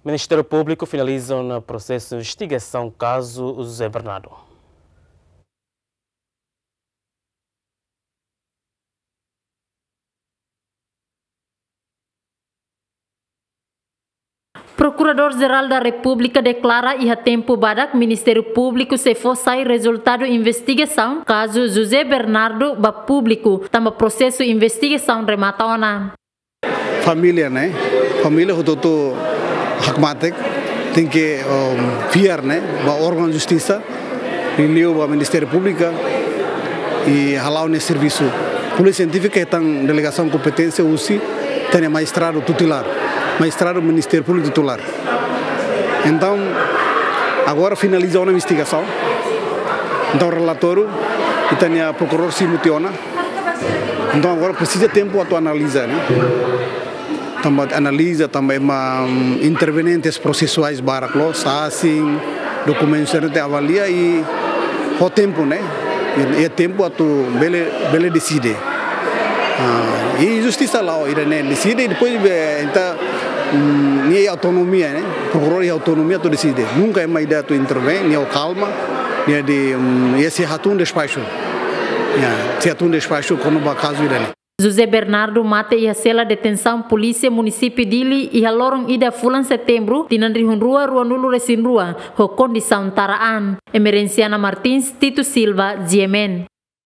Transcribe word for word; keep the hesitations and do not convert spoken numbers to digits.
Ministériu Públiku finaliza ona prosesu investigasaun kazu José Bernardo. Prokuradór-Jerál da Repúblika deklara iha tempu badak Ministériu Públiku sei fó sai rezultadu investigasaun kazu José Bernardo ba públiku, tanba prosesu investigasaun remata ona. Família ne'e, família hotu-hotu hakmatek, tenke, um, fiar ne'e ba órgaun justisa, liuliu ba Ministériu Públiku, i hala'o nia servisu. Polísia Siéntifika hetan delegasaun kompeténsia husi ita-nia Majistradu Tutelar, Majistradu Ministériu Públiku Tutelar. Entaun, agora finaliza ona investigasaun. Entaun, relatóriu ita-nia prokuradór simu tiha ona. Entaun, agora presiza tempu atu analiza, ne'e? Tanba analiza, tanba ema, mm, intervenientes prosesuais barak loos, sasin, dokumentu sira-ne'e tenke avalia i ho tempu, ne'e? I, i tempu atu bele, bele deside. Ah, i justisa la'o ida-ne'e deside, i depois, eh, entaun, mm, nia iha autonomia, ne'e? Prokuradór iha autonomia atu deside. Nunka ema ida atu intervém, nia ho kalma, nia de, mm, nia sei hatún despaxu. Ya, sei hatún despaxu kona-ba kazu ida-ne'e. José Bernardo mate iha sela detensaun Polísia Munisípiu Dili iha loron ida fulan Setembru, tinan rihun rua ruanulu-resin-rua, ho kondisaun tara an. Emerenciana Martins, Tito Silva, G M N.